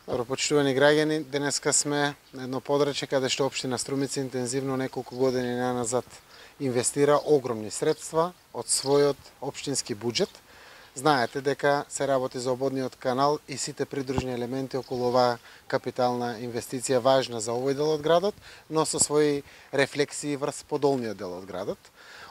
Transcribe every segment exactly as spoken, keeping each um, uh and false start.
Добро, почитувани граѓани, денеска сме на едно подрачје каде што општина Струмица интензивно неколку години наназад инвестира огромни средства од својот општински буџет. Знаете дека се работи за ободниот канал и сите придружни елементи околу оваа капитална инвестиција важна за овој дел од градот, но со своји рефлексии врз подолниот дел од градот.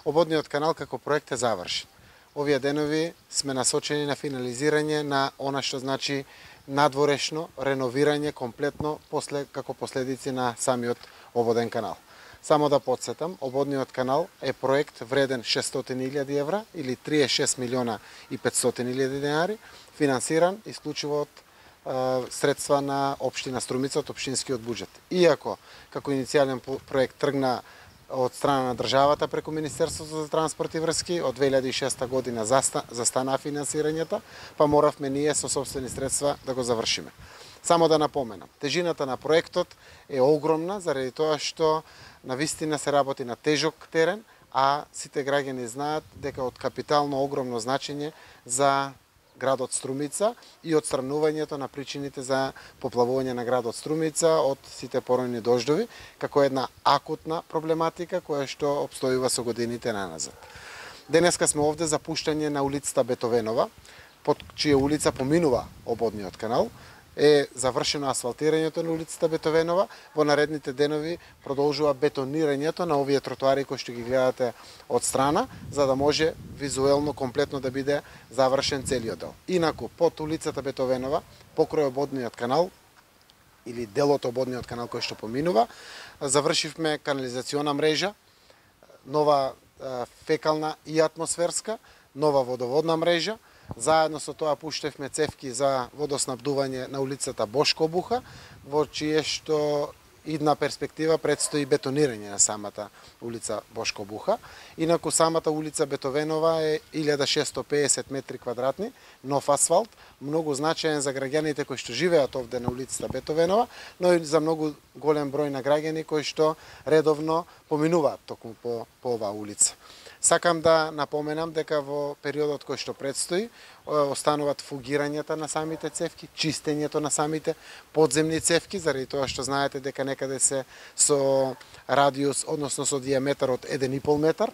Ободниот канал како проект е завршен. Овие денови сме насочени на финализирање на она што значи надворешно реновирање комплетно после како последици на самиот ободен канал. Само да подсетам, ободниот канал е проект вреден шестстотини илјади евра или триесет и шест милиона и петстотини илјади денари, финансиран исклучиво од е, средства на општина Струмица од општинскиот буџет. Иако како иницијален проект тргна од страна на државата преку Министерството за транспорт и врски, од две илјади и шеста година застана финансирањето, па моравме ние со сопствени средства да го завршиме. Само да напоменам, тежината на проектот е огромна заради тоа што навистина се работи на тежок терен, а сите граѓани знаат дека од капитално огромно значење за градот Струмица и отстранувањето на причините за поплавување на градот Струмица од сите поројни дождови, како една акутна проблематика која што обстојува со годините наназад. Денеска сме овде за пуштање на улицата Бетовенова, под чија улица поминува ободниот канал. Е завршено асфалтирањето на улицата Бетовенова, во наредните денови продолжува бетонирањето на овие тротоари кои што ги гледате од страна, за да може визуелно комплетно да биде завршен целиот дел. Инаку, под улицата Бетовенова, покрај ободниот канал, или делот ободниот канал кој што поминува, завршивме канализациона мрежа, нова фекална и атмосферска, нова водоводна мрежа. Заедно со тоа пуштевме цевки за водоснабдување на улицата Бошко Обуха, во чие што идна перспектива предстои бетонирање на самата улица Бошко Обуха. Инаку самата улица Бетовенова е илјада шестоста и педесет метри квадратни, нов асфалт, многу значаен за граѓаните кои што живеат овде на улицата Бетовенова, но и за многу голем број на граѓани кои што редовно поминуваат токму по, по оваа улица. Сакам да напоменам дека во периодот кој што предстои остануваат фугирањата на самите цевки, чистењето на самите подземни цевки, заради тоа што знаете дека некаде се со радиус, односно со диаметар од еден и пол метар,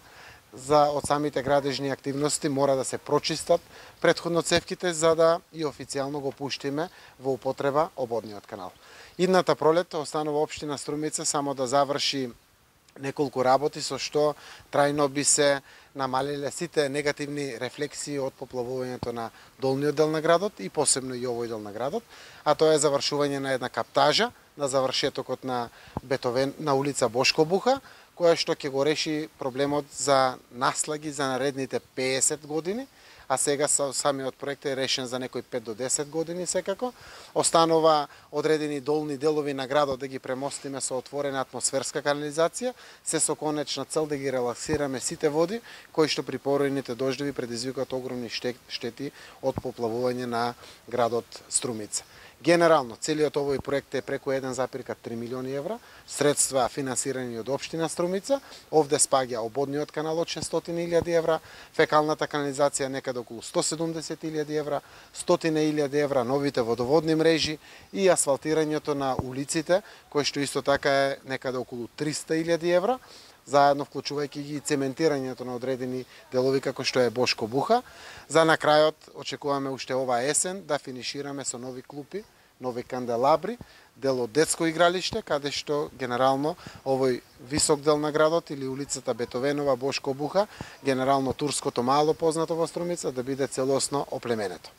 за од самите градежни активности мора да се прочистат претходно цевките за да и официјално го пуштиме во употреба ободниот канал. Идната пролет останува општина Струмица само да заврши неколку работи со што трајно би се намалиле сите негативни рефлексии од поплавувањето на долниот дел на градот и посебно и овој дел на градот, а тоа е завршување на една каптажа на завршетокот на Бетовен на улица Бошко Обуха, која што ќе го реши проблемот за наслаги за наредните педесет години, а сега самиот проект е решен за некои пет до десет години секако. Останува одредени долни делови на градот да ги премостиме со отворена атмосферска канализација, се со конечна цел да ги релаксираме сите води кои што при поројните дождови предизвикаат огромни штети од поплавување на градот Струмица. Генерално, целиот овој проект е преку еден запирка три милиони евра, средства финансирани од општина Струмица. Овде спаѓа ободниот канал од шестстотини илјади евра, фекалната канализација некаде околу сто седумдесет илјади евра, стотина илјади евра новите водоводни мрежи и асфалтирањето на улиците, кој што исто така е некаде околу триста илјади евра, заедно вклучувајќи ги цементирањето на одредени делови како што е Бошко Обуха. За на крајот очекуваме уште оваа есен да финишираме со нови клупи, нови канделабри, дел од детско игралиште, каде што генерално овој висок дел на градот или улицата Бетовенова, Бошко Обуха, генерално турското мало познато во Струмица, да биде целосно оплеменето.